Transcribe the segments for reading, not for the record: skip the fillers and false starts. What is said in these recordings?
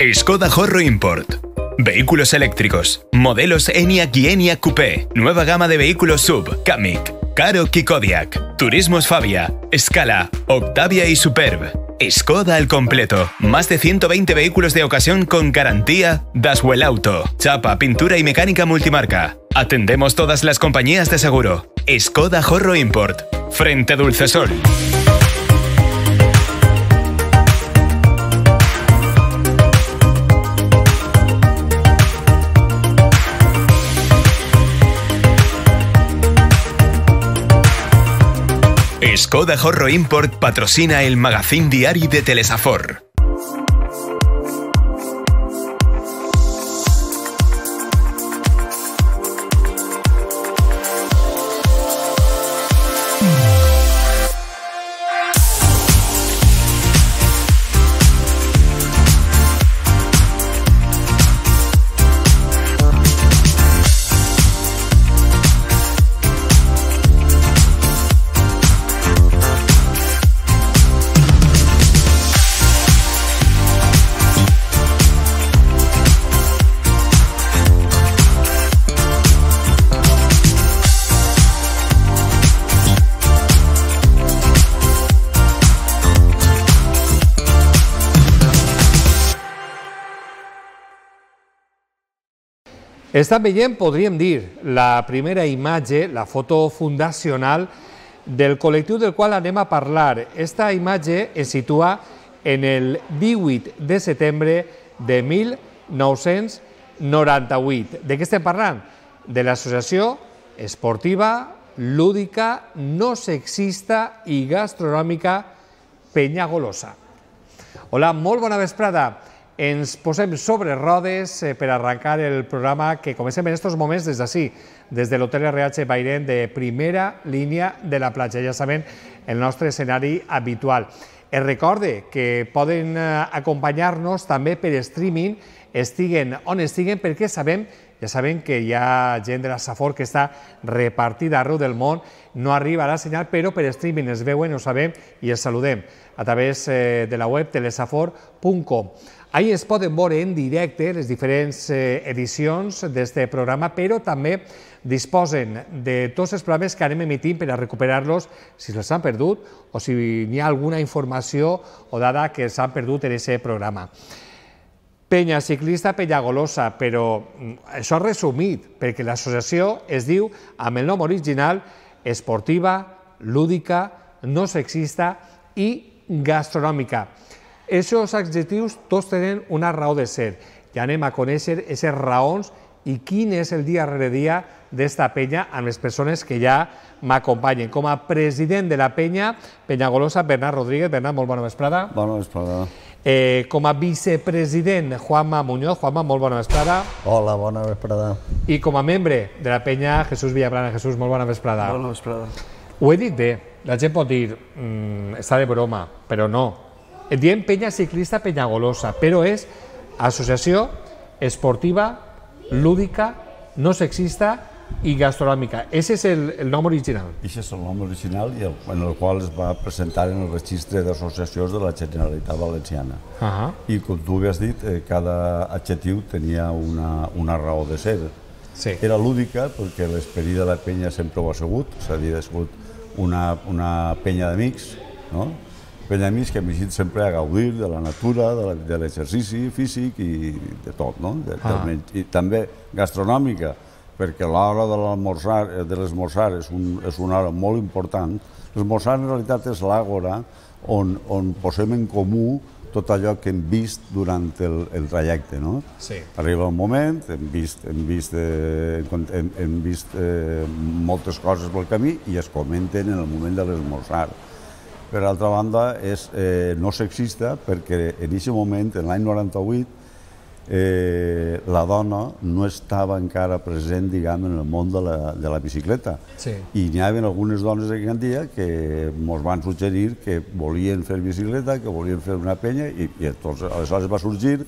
Skoda Horro Import. Vehículos eléctricos. Modelos Enyaq y Enyaq Coupé. Nueva gama de vehículos SUV, Kamiq, Karoq y Kodiaq. Turismos Fabia, Scala, Octavia y Superb. Skoda al completo. Más de 120 vehículos de ocasión con garantía Daswell Auto. Chapa, pintura y mecánica multimarca. Atendemos todas las compañías de seguro. Skoda Horro Import. Frente Dulcesol. Skoda Horro Import patrocina el magazín diari de Telesafor. Estan veient, podríem dir, la primera imatge, la foto fundacional del col·lectiu del qual anem a parlar. Esta imatge es situa en el 18 de setembre de 1998. De què estem parlant? De l'associació esportiva, lúdica, no sexista i gastronòmica Penyagolosa. Hola, molt bona vesprada. Ens posem sobre rodes per arrencar el programa que comencem en aquests moments des d'ací, des de l'Hotel RH Bairén de primera línia de la platja. Ja saben, el nostre escenari habitual. Es recorde que poden acompanyar-nos també per streaming, estiguen on estiguen, perquè ja sabem que hi ha gent de la Safor que està repartida arreu del món, no arriba la senyal, però per streaming es veuen, ho sabem i els saludem a través de la web telesafor.com. Ahí es poden veure en directe les diferents edicions d'aquest programa, però també disposen de tots els programes que anem emitint per a recuperar-los si els han perdut o si hi ha alguna informació o dada que s'han perdut en aquest programa. Penya Ciclista Penyagolosa, però això resumit, perquè l'associació es diu, amb el nom original, esportiva, lúdica, no sexista i gastronòmica. Aquests adjectius tots tenen una raó de ser. Ja anem a conèixer aquestes raons i quin és el dia rere dia d'esta penya amb les persones que ja m'acompanyen. Com a president de la penya, Penyagolosa, Bernat Rodríguez. Bernat, molt bona vesprada. Bona vesprada. Com a vicepresident, Juanma Muñoz. Juanma, molt bona vesprada. Hola, bona vesprada. I com a membre de la penya, Jesús Villaplana. Jesús, molt bona vesprada. Bona vesprada. Ho he dit bé. La gent pot dir, està de broma, però no. Et diem Penya Ciclista Penyagolosa, però és associació esportiva, lúdica, no sexista i gastronòmica. Aquest és el nom original. Aquest és el nom original en el qual es va presentar en el registre d'associacions de la Generalitat Valenciana. I com tu havies dit, cada adjectiu tenia una raó de ser. Era lúdica perquè l'esperit de la penya sempre ho ha sigut, és a dir, ha sigut una penya d'amics, no? Penya d'amics que hem llegit sempre a gaudir de la natura, de l'exercici físic i de tot, no? I també gastronòmica, perquè l'hora de l'esmorzar és una hora molt important. L'esmorzar en realitat és l'àgora on posem en comú tot allò que hem vist durant el trajecte, no? Arriba un moment, hem vist moltes coses pel camí i es comenten en el moment de l'esmorzar. Per altra banda, és no sexista perquè en aquest moment, en l'any 98, la dona no estava encara present, diguem, en el món de la bicicleta. I n'hi havia algunes dones d'aquell dia que ens van suggerir que volien fer bicicleta, que volien fer una penya, i aleshores va sorgir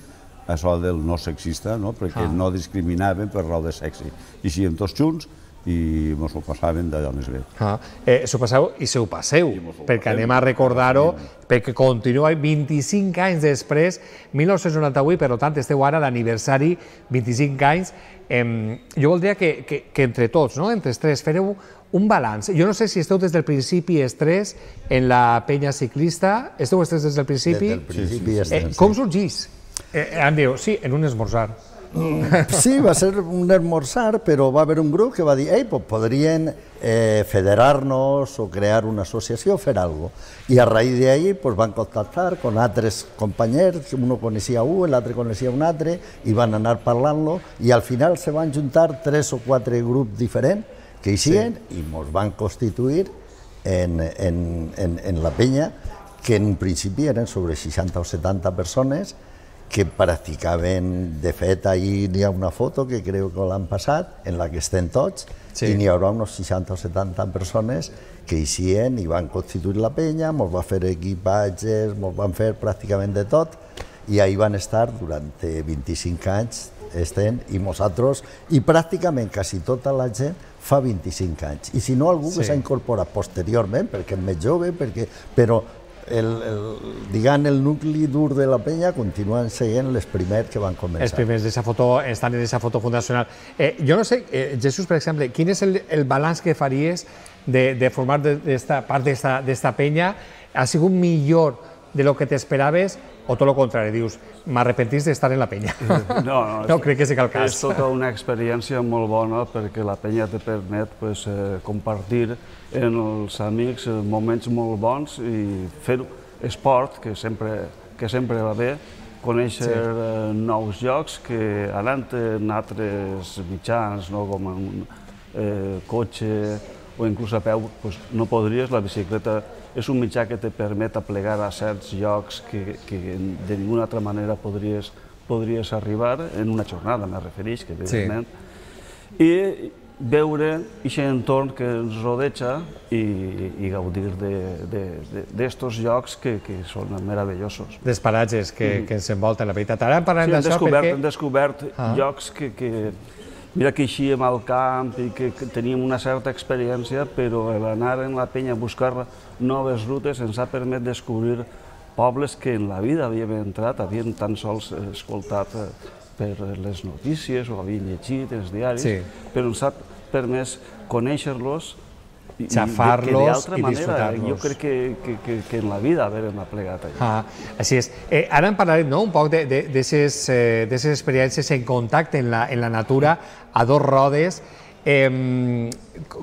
això del no sexista, perquè no discriminaven per raó de sexe. I així, tots junts, i ens ho passàvem d'allò més bé. S'ho passeu i s'ho passeu, perquè anem a recordar-ho, perquè continua 25 anys després, 1998, per tant, esteu ara d'aniversari, 25 anys. Jo voldria que entre tots, entre els tres, fareu un balanç. Jo no sé si esteu des del principi els tres en la penya ciclista. Esteu els tres des del principi? Des del principi els tres. Com sorgís? Em diu, sí, en un esmorzar. Sí, va ser un esmorzar, però va haver un grup que va dir pues podrien federar-nos o crear una associació, fer alguna cosa. I a raïs d'ahí pues, van contactar con altres companys, uno coneixia un, l'altre coneixia un altre, i van anar parlant-lo, i al final se van juntar 3 o 4 grups diferents que hicien i ens van constituir en la penya, que en un principi eren sobre 60 o 70 persones, que practicaven, de fet, ahir hi ha una foto que crec que l'han passat, en la que estem tots, i n'hi haurà uns 60 o 70 persones que eixien i van constituir la penya, ens va fer equipatges, ens van fer pràcticament de tot, i ahir van estar durant 25 anys, i nosaltres, i pràcticament quasi tota la gent fa 25 anys. I si no, algú que s'ha incorporat posteriorment, perquè és més jove, però el nucli dur de la penya continuen sent els primers que van començar. Els primers estan en aquesta foto fundacional. Jo no sé, Jesús, per exemple, quin és el balanç que faries de formar part d'esta penya? Ha sigut millor de lo que t'esperaves o tot el contrari? Dius, m'arrepentís d'estar en la penya. No, crec que sí que el cas. És tota una experiència molt bona perquè la penya te permet compartir en els amics moments molt bons i fer esport, que sempre va bé, conèixer nous llocs que anant en altres mitjans, com en cotxe o inclús a peu, no podries. La bicicleta és un mitjà que te permet aplegar a certs llocs que de ninguna altra manera podries arribar en una jornada, me refereix, que evidentment. I veure aquest entorn que ens rodeja i gaudir d'estos llocs que són meravellosos. Dels paratges que ens envolten, la veritat. Ara parlem d'això perquè... Hem descobert llocs que... Mira que eixíem al camp i que teníem una certa experiència, però l'anar en la penya a buscar noves rutes ens ha permès descobrir pobles que en la vida havíem entrat, havíem tan sols escoltat per les notícies o havíem llegit els diaris, però ens ha permès conèixer-los xafar-los i disfrutar-los. Jo crec que en la vida haver-hem aplegat allà. Així és. Ara en parlarem un poc d'aquestes experiències en contacte en la natura, a dos rodes.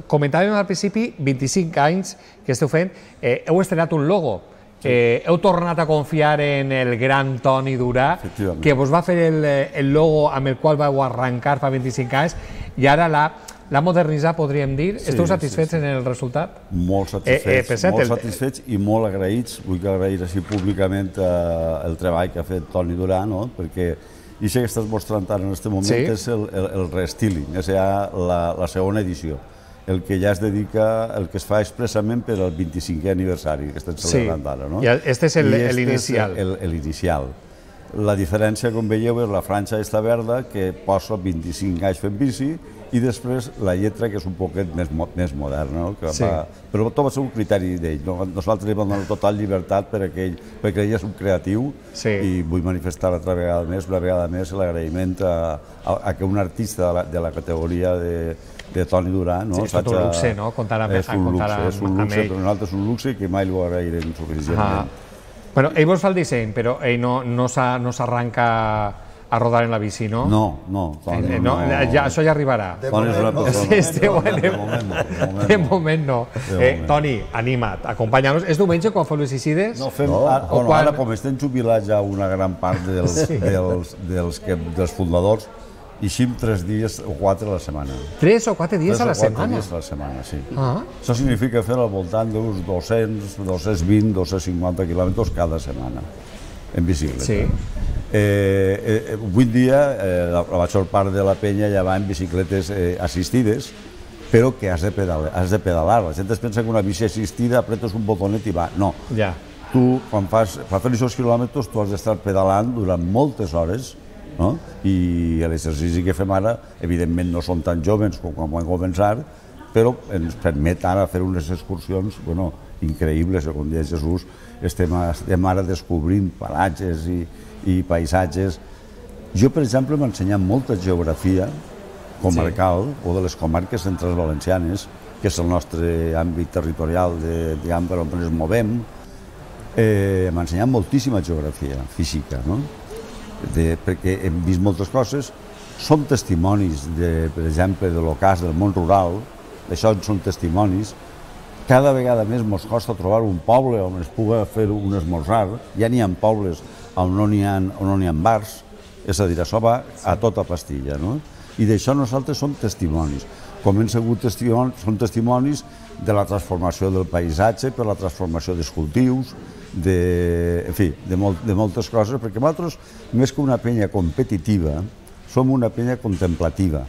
Comentàvem al principi, 25 anys que esteu fent, heu estrenat un logo. Heu tornat a confiar en el gran Toni Durà, que vos va fer el logo amb el qual vau arrencar fa 25 anys, i ara l'ha modernitzat, podríem dir. Esteu satisfets en el resultat? Molt satisfets i molt agraïts. Vull agrair així públicament el treball que ha fet Toni Durà, perquè això que estàs mostrant ara en aquest moment és el restyling, és ja la segona edició, el que ja es dedica, el que es fa expressament per al 25è aniversari que estem celebrant ara. I aquest és l'inicial. L'inicial. La diferència, com veieu, és la franja està verda, que posa 25 anys fent bici, i després la lletra, que és un poquet més moderna, però tot va ser un criteri d'ell. Nosaltres li vam donar total llibertat perquè ell és un creatiu i vull manifestar una vegada més l'agraïment a que un artista de la categoria de Toni Durà... És tot un luxe, no? Comptar amb ell. És un luxe, però nosaltres és un luxe que mai l'ho agrairem suficientment. Bueno, ell vos fa el disseny, però ell no s'arranca a rodar en la bici, no? No. Això ja arribarà. De moment no. Toni, anima't, acompanya-nos. És diumenge quan feu les Isides? Ara, com estem jubilats ja una gran part dels fundadors, eixim 3 dies o 4 a la setmana. 3 o 4 dies a la setmana? 3 o 4 dies a la setmana, sí. Això significa fer al voltant d'uns 200, 220, 250 quilòmetres cada setmana en bicicleta. Avui en dia la major part de la penya ja va en bicicletes assistides, però que has de pedalar. La gent es pensa que una bici assistida apretes un botonet i va. No. Tu, quan fer aquests quilòmetres, tu has d'estar pedalant durant moltes hores I l'exercici que fem ara, evidentment no som tan joves com quan vam començar, però ens permet ara fer unes excursions increïbles, com deia Jesús. Estem ara descobrint paratges i paisatges. Jo, per exemple, m'he ensenyat molta geografia comarcal o de les comarques centrals valencianes, que és el nostre àmbit territorial per on ens movem. M'ha ensenyat moltíssima geografia física, perquè hem vist moltes coses. Som testimonis, per exemple, de l'ocàs del món rural, d'això en són testimonis. Cada vegada més ens costa trobar un poble on es pugui fer un esmorzar. Ja n'hi ha pobles on no n'hi ha bars, és a dir, això va a tota pastilla, i d'això nosaltres som testimonis. Com hem sigut testimonis, som testimonis de la transformació del paisatge, per la transformació dels cultius, en fi, de moltes coses, perquè nosaltres, més que una penya competitiva, som una penya contemplativa.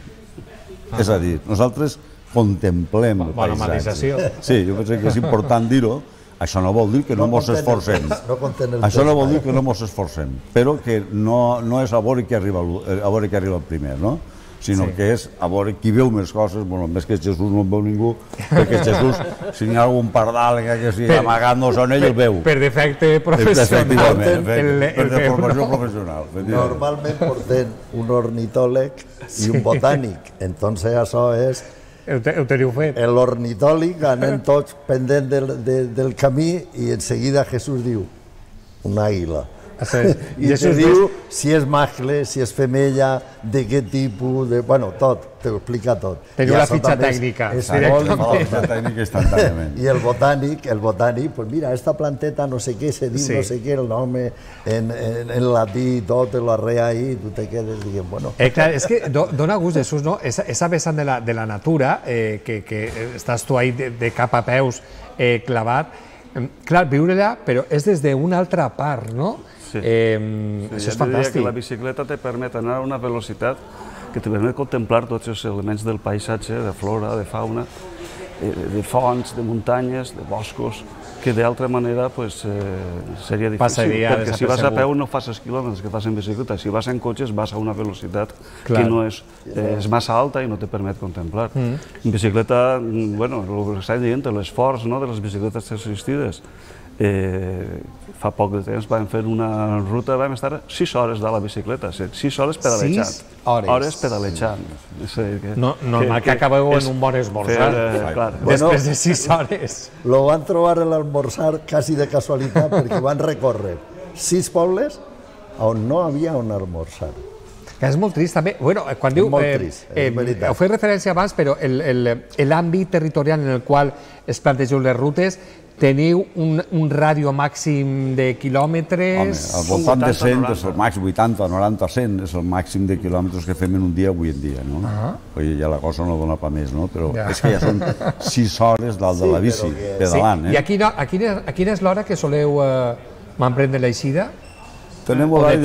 És a dir, nosaltres contemplem el paisatge. Sí, jo penso que és important dir-ho. Això no vol dir que no ens esforcem. Això no vol dir que no ens esforcem, però que no és a veure qui arriba el primer, sinó que és a veure qui veu més coses. Més que Jesús no en veu ningú, perquè Jesús, si hi ha algun pardal que estigui amagant-nos en ell, el veu. Per defecte professional. Per formació professional. Normalment porten un ornitòleg i un botànic, entonces això és... Ho teniu fet. L'ornitòleg, anem tots pendent del camí i en seguida Jesús diu una àguila. I te diu si és mascle, si és femella, de què tipus, tot, t'ho explica tot. Teniu la fitxa tècnica. I el botànic, pues mira, esta planteta no sé què se diu, no sé què, el nom en latí, tot, l'arrea ahí, tu te quedes dient, bueno... Clar, és que dona gust, Jesús, no? Esa vessant de la natura, que estàs tu ahí de cap a peus clavat, clar, viure-la, però és des d'una altra part, no? Això és fantàstic. Que la bicicleta te permet anar a una velocitat que te permet contemplar tots els elements del paisatge, de flora, de fauna, de fonts, de muntanyes, de boscos, que d'altra manera seria difícil, perquè si vas a peu no fas els quilòmetres que fas en bicicleta, si vas en cotxes vas a una velocitat que no és massa alta i no te permet contemplar. En bicicleta, el que estàs dient, l'esforç de les bicicletes assistides, fa poc de temps vam fer una ruta, vam estar 6 hores de la bicicleta, 6 hores pedalejant. 6 hores pedalejant. Normal que acabeu en un bon esmorzar, després de 6 hores. Lo van trobar en l'esmorzar quasi de casualitat, perquè van recórrer 6 pobles on no havia on esmorzar. És molt trist també. Quan diu... Heu fet referència abans, però l'àmbit territorial en el qual es plantegeu les rutes, teniu un ràdio màxim de quilòmetres... Home, al voltant de 100, és el màxim, 80, 90, 100, és el màxim de quilòmetres que fem en un dia avui en dia, no? Ja la cosa no dona pa més, no? Però és que ja són 6 hores dalt de la bici, pedalant, I a quina és l'hora que soleu m'emprendre l'eixida? Tenim horari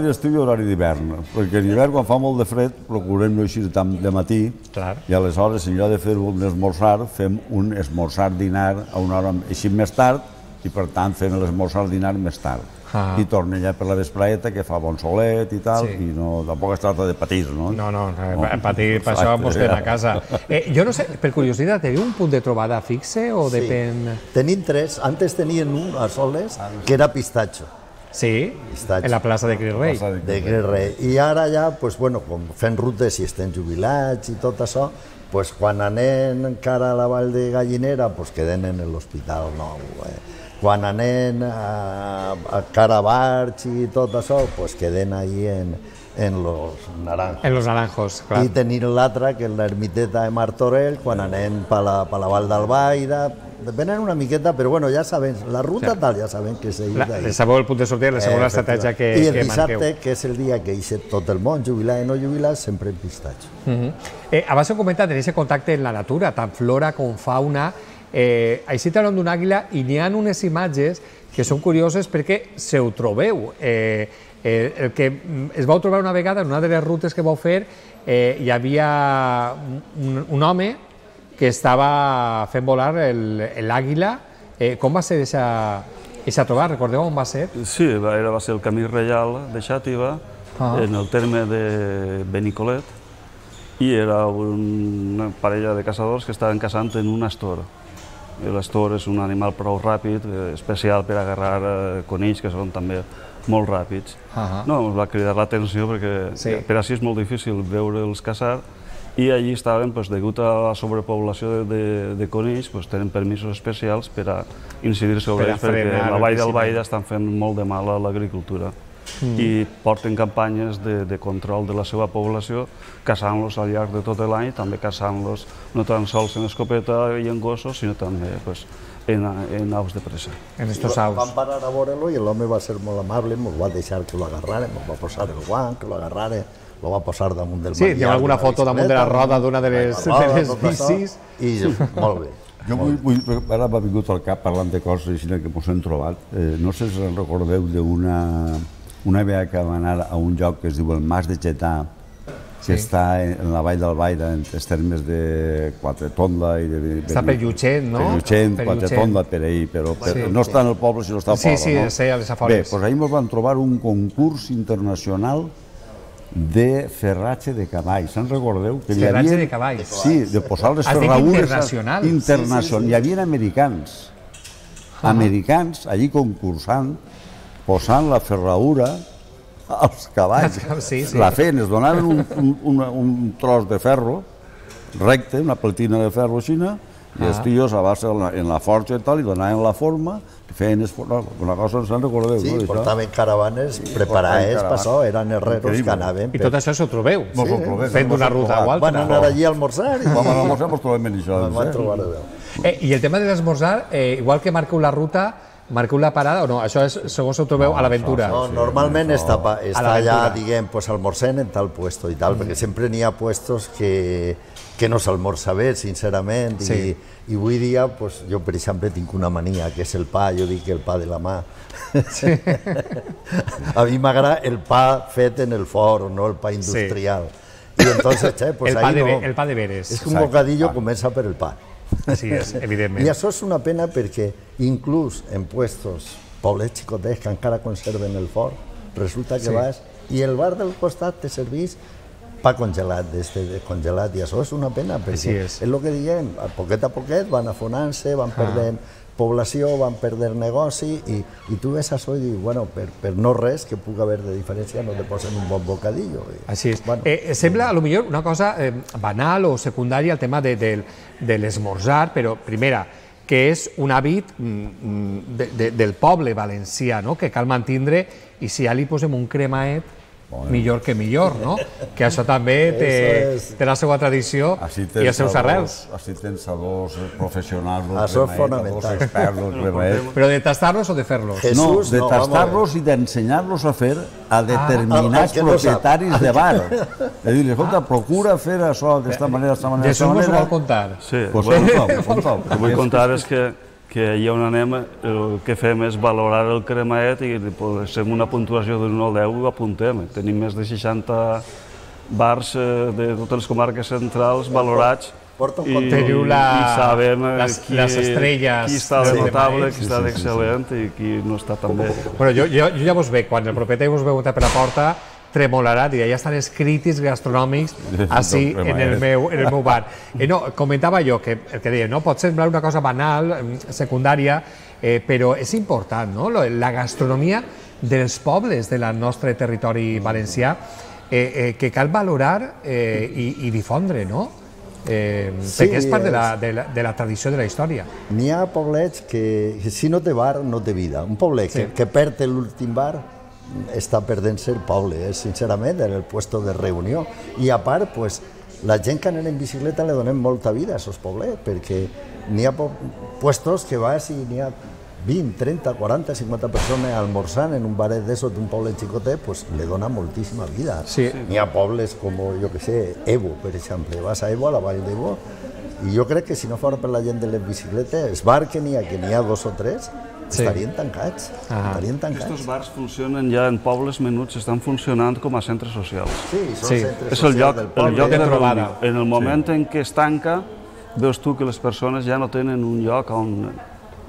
d'estiu i horari d'hivern, perquè en hivern, quan fa molt de fred, procurem no eixir tant de matí, i aleshores, en lloc de fer un esmorzar, fem un esmorzar-dinar a una hora així més tard, i per tant fem l'esmorzar-dinar més tard. I tornem ja per la vespreta, que fa bon solet i tal, i tampoc es tracta de patir, no? No, patir, per això mos quedem a casa. Jo no sé, per curiositat, teniu un punt de trobada fixe o depèn...? Tenim 3, antes tenien un a Soles, que era Pistatxo. Sí, en la plaça de Cris Rei. De Cris Rei. I ara ja, fent rutes i estem jubilats i tot això, quan anem encara a la Vall de Gallinera, quedem en l'Hospital Nou. Quan anem a Carabarch i tot això, quedem allí en Los Naranjos. En Los Naranjos, clar. I tenim l'altra, que és l'ermiteta de Martorell, quan anem per la Vall d'Albaida. Depenen una miqueta, però ja sabem, la ruta tal, ja sabem que seguir d'ahir. Sabeu el punt de sortida, la segona estratègia que marqueu. I el dissabte, que és el dia que eixe tot el món, jubilat i no jubilat, sempre en Pistatxo. Abans heu comentat, tenéis contacte amb la natura, tant flora com fauna. Així parlem d'un àguila i n'hi ha unes imatges que són curioses perquè se ho trobeu. El que es vau trobar una vegada, en una de les rutes que vau fer, hi havia un home que estava fent volar l'àguila. Com va ser aquesta trobada? Recordeu on va ser? Sí, va ser el Camí Reial de Xàtiva, en el terme de Benicolet, i era una parella de caçadors que estaven caçant en un astor. L'astor és un animal prou ràpid, especial per agarrar conills, que són també molt ràpids. No, ens va cridar l'atenció perquè per així és molt difícil veure'ls caçar, i allí estaven, degut a la sobrepoblació de conills, tenen permisos especials per a incidir sobre ells, perquè a la vall d'Albaida estan fent molt de mal a l'agricultura. I porten campanyes de control de la seva població, caçant-los al llarg de tot l'any, també caçant-los no tan sols en escopeta i en gossos, sinó també en aus de presa. En estos aus. Vam parar a veure-lo i l'home va ser molt amable, ens va deixar que lo agarrarem, ens va posar el guant, que lo agarrarem, lo va posar damunt del manillar. Sí, hi ha alguna foto damunt de la roda d'una de les bicis. I molt bé. Jo ara m'ha vingut al cap parlant de coses així que ens hem trobat. No sé si recordeu d'una vegada que vam anar a un lloc que es diu el Mas de Getà, que està en la vall d'Albaida, en els termes de Quatretonda i de... Està per Llutxent, no? Per Llutxent, Quatretonda, per ahir, però no està en el poble, sinó està a fora, no? Sí, sí, a les afores. Bé, doncs ahir ens vam trobar un concurs internacional de ferratge de cavalls. Se'n recordeu? Ferratge de cavalls? Sí, de posar les ferradures... Internacional? Hi havia americans allí concursant, posant la ferradura als cavalls. La feien, es donaven un tros de ferro recte, una platina de ferro així, i els tios a base en la forja i tal, i donaven la forma, feien una cosa, se'n recordeu, no? Sí, portaven caravanes preparades per això, eren herreros que anaven... I tot això s'ho trobeu? Fent una ruta o altra? Van anar allí a almorzar i... Vam anar a almorzar, doncs trobem en això. Vam trobar a Déu. I el tema de l'esmorzar, igual que marqueu la ruta, marqueu la parada o no? Això és, segons ho trobeu, a l'aventura? No, normalment està allà, diguem, almorcent en tal puesto i tal, perquè sempre n'hi ha puestos que no s'almorza bé, sincerament, i avui dia, jo, per exemple, tinc una mania, que és el pa, jo dic el pa de la mà. A mi m'agrada el pa fet en el forn, no el pa industrial. I entonces, el pa de veres. És que un bocadillo comença per el pa. Així és, evidentment. I això és una pena perquè inclús en puestos, poblets xicotets que encara conserven el forn, resulta que vas i el bar del costat te servís pa congelat, congelat, i això és una pena, perquè és el que diguem, a poquet van afonant-se, van perdent població, van perdent negoci, i tu ves això i dius, bueno, per no res que pugui haver de diferència no te posen un bon bocadillo. Així és. Sembla, a lo millor, una cosa banal o secundària el tema de l'esmorzar, però, primera, que és un hàbit del poble valencià, que cal mantindre, i si ja li posem un cremaet, millor que millor, no? Que això també té la seva tradició i els seus arrels. Així tens sabors professionals, això és fonamental. Però de tastar-los o de fer-los? No, de tastar-los i d'ensenyar-los a fer a determinats propietaris de bar. És a dir, escolta, procura fer això d'esta manera, d'esta manera, d'esta manera. Jesús m'ho vol contar. Sí, el que vull contar és que allà on anem el que fem és valorar el cremaet i amb una puntuació d'un 1 al 10 ho apuntem. Tenim més de 60 bars de totes les comarques centrals valorats teniu les estrelles, qui està de notable, qui està d'excel·lent i qui no està tan bé. Jo ja vos veig, quan el propietari vos veu entrar per la porta, tremolarà, dirà, ja estan els crítics gastronòmics així en el meu bar. Comentava jo que el que deia, pot semblar una cosa banal, secundària, però és important, la gastronomia dels pobles del nostre territori valencià, que cal valorar i difondre, no? Perquè és part de la tradició de la història. N'hi ha poblets que si no té bar no té vida. Un poblet que perd l'últim bar està perdent-se el poble, sincerament, en el puesto de reunió. I a part, la gent que anem en bicicleta li donem molta vida a aquests poblets, perquè n'hi ha puestos que vas i n'hi ha 20, 30, 40, 50 persones almorzant en un baret d'això d'un poble xicotet, li dona moltíssima vida. N'hi ha pobles com, jo què sé, Evo, per exemple. Vas a Evo, a la vall d'Evo, i jo crec que si no fos per la gent de les bicicletes, els bars que n'hi ha 2 o 3, estarien tancats. Aquests bars funcionen ja en pobles menuts, estan funcionant com a centres socials. Sí, són centres socials del poble. És el lloc de trobada. En el moment en què es tanca, veus tu que les persones ja no tenen un lloc on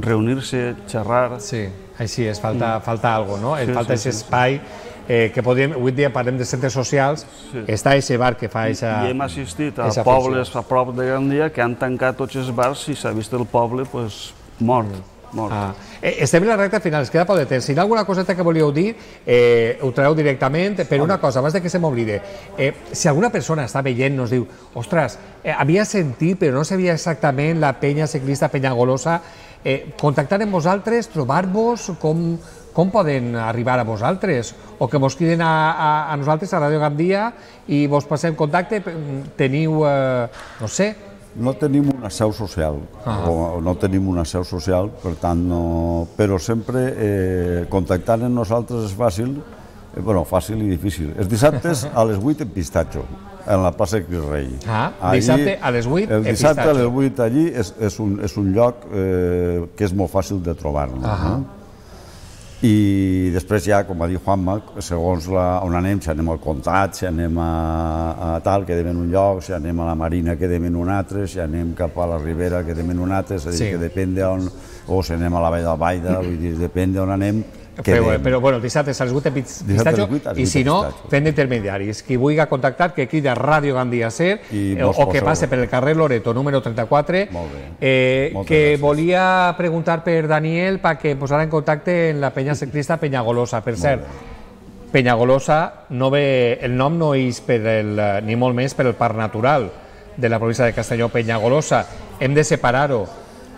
reunir-se, xerrar... Sí, així és, falta alguna cosa, no? Falta aquest espai que podríem, avui dia parlem de centres socials, està aquest bar que fa aquesta I hem assistit a pobles a prop de Gandia que han tancat tots els bars i s'ha vist el poble mort. Estem en la recta final, es queda poc de temps. Si hi ha alguna coseta que volíeu dir, ho traeu directament. Per una cosa, abans que se m'oblide, si alguna persona està veient, nos diu, ostres, havia sentit, però no sabia exactament la penya ciclista Penyagolosa, contactar amb vosaltres, trobar-vos, com poden arribar a vosaltres? O que vos criden a nosaltres, a Ràdio Gandia, i vos passem contacte, teniu, no sé... No tenim una seu social, no tenim una seu social, per tant, però sempre contactant amb nosaltres és fàcil, bueno, fàcil i difícil. Els dissabtes a les 8 en Pistatxo, en la plaça Cris Rei. Dissabte a les 8 en Pistatxo. El dissabte a les 8 allí és un lloc que és molt fàcil de trobar-nos. I després ja, com va dir Juanma, segons on anem, si anem al Comtat, si anem a tal, quedem en un lloc, si anem a la Marina, quedem en un altre, si anem cap a la Ribera, quedem en un altre, és a dir, que depèn d'on, o si anem a la Vall del Baida, vull dir, depèn d'on anem, quedem. Però, bueno, el dissabte a les 8 en Pistatxo, i si no, fent d'intermediaris. Qui vulgui contactar, que crida Ràdio Gandia Ser, o que passe per el carrer Loreto, número 34, que volia preguntar per Daniel perquè posara en contacte en la penya ciclista Penyagolosa. Per cert, Penyagolosa, el nom no és ni molt més per el parc natural de la província de Castelló, Penyagolosa. Hem de separar-ho.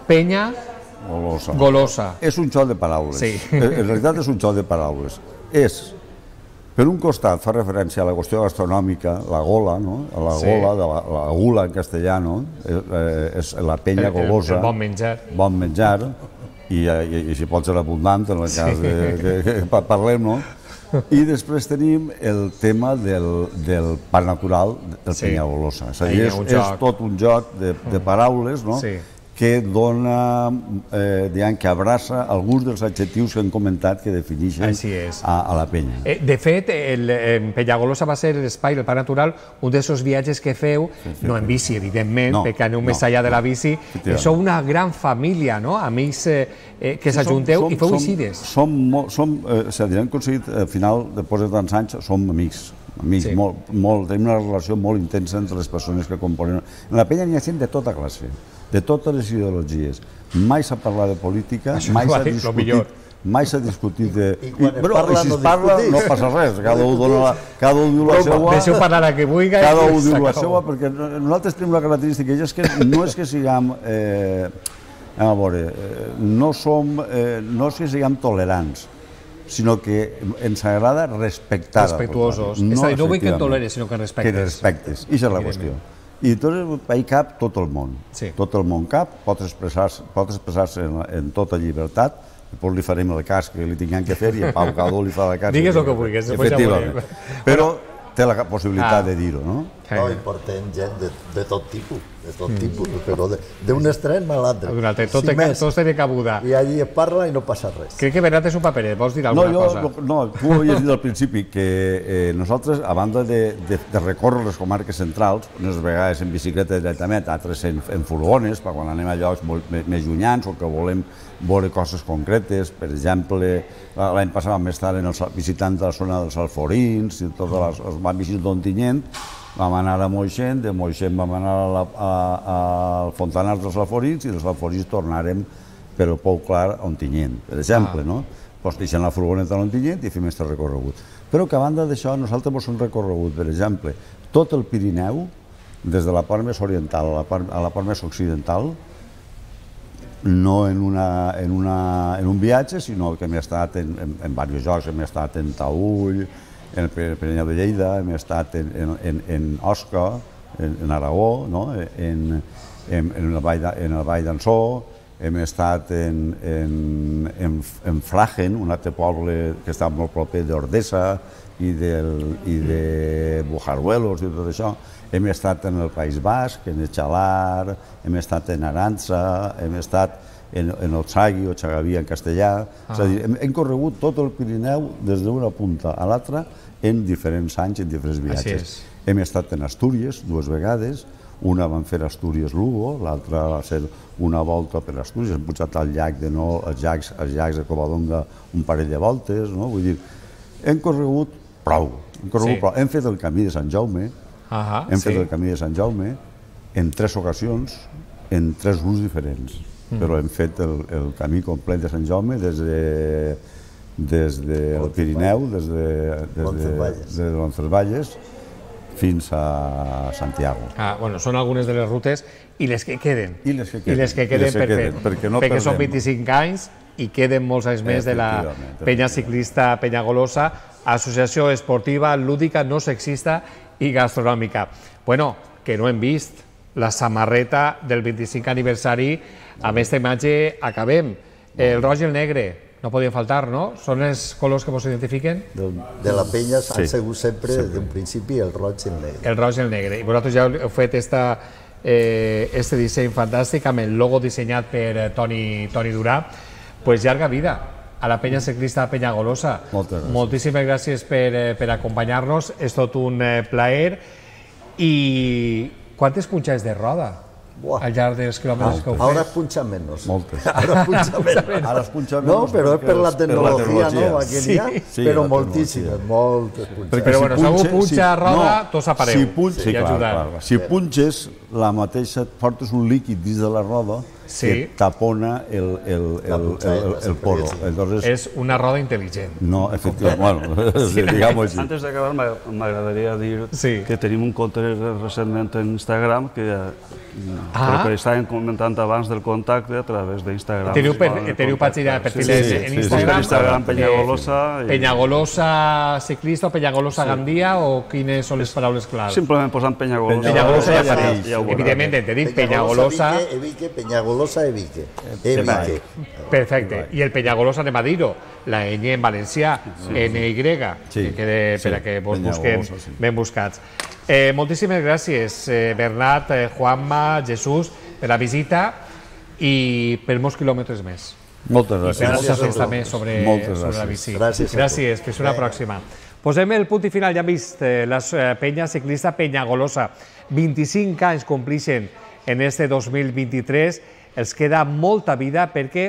Penya Golosa. És un joc de paraules. En realitat és un joc de paraules. Per un costat fa referència a la qüestió gastronòmica, la gola, la gula en castellà, és la penya golosa. El bon menjar. Bon menjar, i si pot ser abundant en el cas que parlem, no? I després tenim el tema del parc natural del Penyagolosa. És a dir, és tot un joc de paraules, no? Que dona, diguem, que abraça alguns dels adjectius que hem comentat que defineixen a la penya. De fet, Penyagolosa va ser l'espai, el parc natural, un d'aquests viatges que feu, no en bici, evidentment, perquè aneu més allà de la bici, sou una gran família, no?, amics que s'ajunteu i feu eixides. Hem aconseguit, al final, després de tants anys, som amics. Tenim una relació molt intensa entre les persones que componen. En la penya n'hi ha gent de tota classe, de totes les ideologies. Mai s'ha parlat de política, mai s'ha discutit de... Però si es parla no passa res, cada un diu la seva... Deixeu parlar a qui vulgui. Cada un diu la seva, perquè nosaltres tenim una característica, i és que no és que siguem... A veure, no és que siguem tolerants, sinó que ens agrada respectar. Respectuosos. És a dir, no vull que em toleres, sinó que respectes. Que respectes, i això és la qüestió. I hi cap tot el món. Tot el món cap, pot expressar-se en tota llibertat, després li farem el cas que li tinguem que fer i a Pau Cadó li farà el cas. Digues el que vulguis, després ja veurem. Però té la possibilitat de dir-ho, no? No, i portem gent de tot tipus, però d'un extrem a l'altre. Tots tenen cabuda. I allí es parla i no passa res. Crec que Bernat és un paperet, vols dir alguna cosa? No, tu ho havies dit al principi, que nosaltres, a banda de recórrer les comarques centrals, unes vegades en bicicleta directament, altres en furgones, quan anem a llocs més llunyans o que volem veure coses concretes. Per exemple, l'any passat vam estar visitant la zona dels Alforins, vam visitar d'Ontinyent, vam anar a Moixent, de Moixent vam anar al Fontanars dels Alforins i dels Alforins tornarem per el Pou Clar a Ontinyent, per exemple, no? Doncs deixem la furgoneta a Ontinyent i fem aquest recorregut. Però que a banda d'això, nosaltres hem recorregut, per exemple, tot el Pirineu, des de la part més oriental a la part més occidental, no en un viatge, sinó que hem estat en diversos llocs, hem estat en Taüll, en el Pirineu de Lleida, hem estat en Osca, en Aragó, en el Vall d'Ansó, hem estat en Fragen, un altre poble que està molt proper d'Ordesa i de Bujaruelos i tot això. Hem estat en el País Basc, en Echalar, hem estat en Arantza, hem estat en Otsagui o Xagavia en castellà. És a dir, hem corregut tot el Pirineu des d'una punta a l'altra en diferents anys, en diferents viatges. Hem estat en Astúries 2 vegades, una vam fer Astúries-Lugo, l'altra va ser una volta per Astúries, hem pujat al llac als llacs de Covadonga un parell de voltes, no? Vull dir, hem corregut prou. Hem fet el camí de Sant Jaume, en 3 ocasions, en 3 grups diferents, però hem fet el camí complet de Sant Jaume des del Pirineu, des de Roncesvalles, fins a Santiago. Són algunes de les rutes i les que queden. I les que queden per fer, perquè són 25 anys i queden molts anys més de la penya ciclista Penyagolosa, associació esportiva, lúdica, no sexista i gastronòmica. Bueno, que no hem vist la samarreta del 25 aniversari. Amb aquesta imatge acabem. El roig i el negre, no podien faltar, no? Són els colors que vos identifiquen? De la penya han sigut sempre, des d'un principi, el roig i el negre. El roig i el negre. I vosaltres ja heu fet este disseny fantàstic amb el logo dissenyat per Toni Durà. Pues llarga vida a la penya ciclista Penyagolosa. Moltíssimes gràcies per acompanyar-nos. És tot un plaer. I quantes punxades de roda al llarg dels quilòmetres que heu fet? Ara punxa menys. Moltes. Ara punxa menys. No, però és per la tecnologia nova que hi ha, però moltíssimes, moltes punxades. Però bueno, si algú punxa roda, tots apareu. Si punxes, la mateixa, portes un líquid dins de la roda que tapona el poro. És una roda intel·ligent. No, efectivament, diguem-ho així. Antes d'acabar, m'agradaria dir que tenim un compte recentment en Instagram que estàvem comentant abans del contacte a través d'Instagram. Teniu pàgina de perfils en Instagram? Instagram Penyagolosa. Penyagolosa ciclista o Penyagolosa Gandia o quines són les paraules claves? Simplement posant Penyagolosa. Penyagolosa ja apareix. Evidentment, tenim Penyagolosa... Penyagolosa Evique. Perfecte. I el Penyagolosa, anem a dir-ho, la ñ en valencià, NY, per a que vos busquen ben buscats. Moltíssimes gràcies, Bernat, Juanma, Jesús, per la visita i per molts quilòmetres més. Moltes gràcies. I per moltes fets també sobre la bici. Gràcies. Fins una pròxima. Posem el punt i final. Ja hem vist la penya ciclista Penyagolosa. 25 anys complixen en este 2023. Els queda molta vida perquè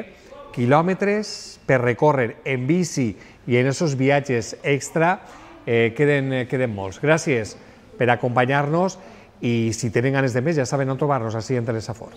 quilòmetres per recórrer en bici i en aquests viatges extra queden molts. Gràcies per acompanyar-nos i si tenen ganes de més ja saben on trobar-nos així en Telesafor.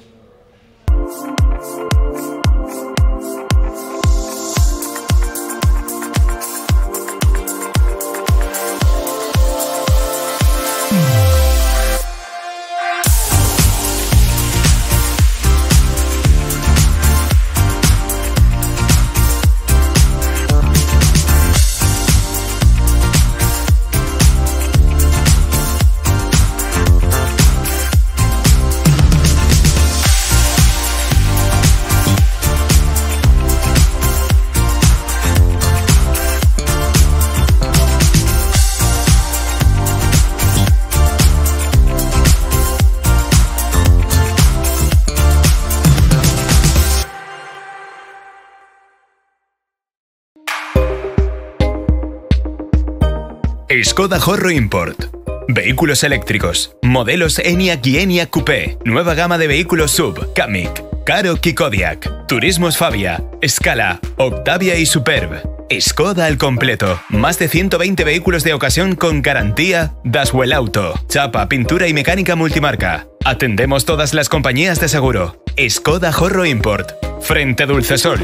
Skoda Horro Import. Vehículos eléctricos. Modelos Enyaq y Enyaq Coupé. Nueva gama de vehículos SUV. Kamiq, Karoq y Kodiaq. Turismos Fabia, Scala, Octavia y Superb. Skoda al completo. Más de 120 vehículos de ocasión con garantía Daswell Auto. Chapa, pintura y mecánica multimarca. Atendemos todas las compañías de seguro. Skoda Horro Import. Frente Dulcesol.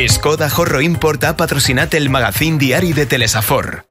Skoda Horro Import ha patrocinat el magazín diari de Telesafor.